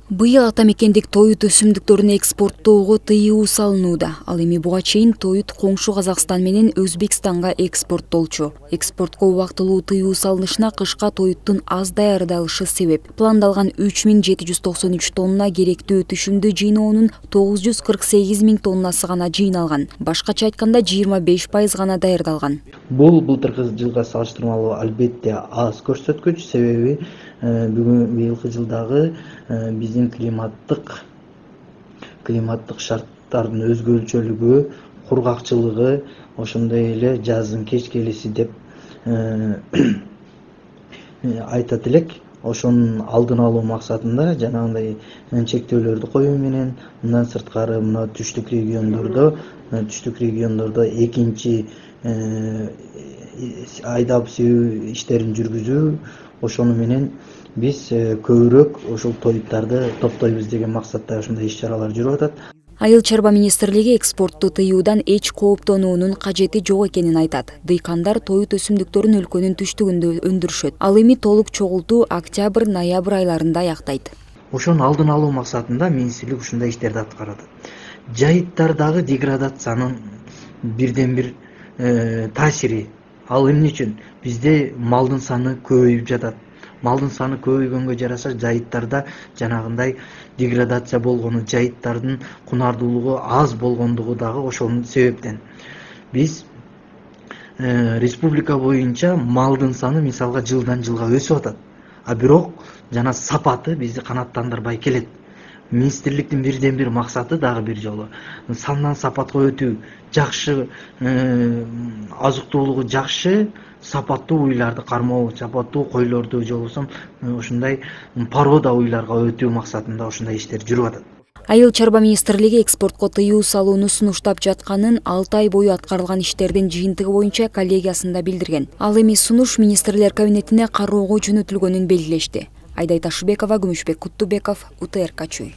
Быйыл ата мекендик тоют өсүмдүктөрүн экспорттоого тыюу салынууда. Ал эми буга чейин тоют коңшу Казакстан менен Өзбекстанга экспорттолчу. Экспортко убактылуу тыюу салынышына кышка тоюттун аз даярдалышы себеп. Пландалган 3793 тонна керектүү түшүмдү жыйноонун 948 000 тоннасы гана жыйналган. Башкача айтканда 25% гана даярдалган. Бул былтыркы жылга салыштырмалуу албетте аз көрсөткүч, себеби быйылкы жылдагы биздин климаттык шарттардын өзгөчөлүгү, кургакчылыгы, ошондой эле жаздын кеч келиси деп айтат элек. Ошонун алдын алуу максатында жанагындай чектөөлөрдү коюу менен мындан сырткары мына түштүк региондордо экинчи айдап себүү иштерин жүргүзүү, ошону менен биз көбүрөөк ошол тоюттарды топтойбуз деген максатта ушундай иш-чаралар жүрүп атат. Айыл чарба министрлиги экспортту тыюудан эч кооптонуунун кажети жок экенин айтат. Дыйкандар тоют өсүмдүктөрүн өлкөнүн түштүгүндө өндүрүшөт. Ал эми толук чогултуу октябрь-ноябрь айларында аяктайт. Ошонун алдын алуу максатында министрлик ушундай иштерди аткарат. Жайыттардагы деградациянын бирден бир таасири. Ал эмне үчүн? Бизде малдын саны көбөйүп жатат. Малдын саны көбөйгөнгө жараша жайыттарда жанагындай деградация болгону, жайыттардын кунардуулугу аз болгондугу дагы ошол себептен. Биз республика боюнча малдын саны мисалга жылдан жылга өсүп атат. А бирок жана сапаты бизди канааттандырбай келет. Министрликтин бирден бир максаты дагы бир жолу сандан сапатка өтүү, жакшы азык-туулугу жакшы, сапаттуу уйларды кармоо, сапаттуу койлорду же болбосо ушундай порода уйларга өтүү максатында ушундай иштер жүрүп атат. Айыл чарба министрлиги экспортко тыюу салууну сунуштап жатканын 6 ай бою аткарылган иштердин жыйынтыгы боюнча коллегиясында билдирген. Ал эми сунуш министрлер кабинетине кароого жөнөтүлгөнүн белгилешти. Айдай Ташыбекова, Күмүшбек Куттубеков, УТРК Чүй.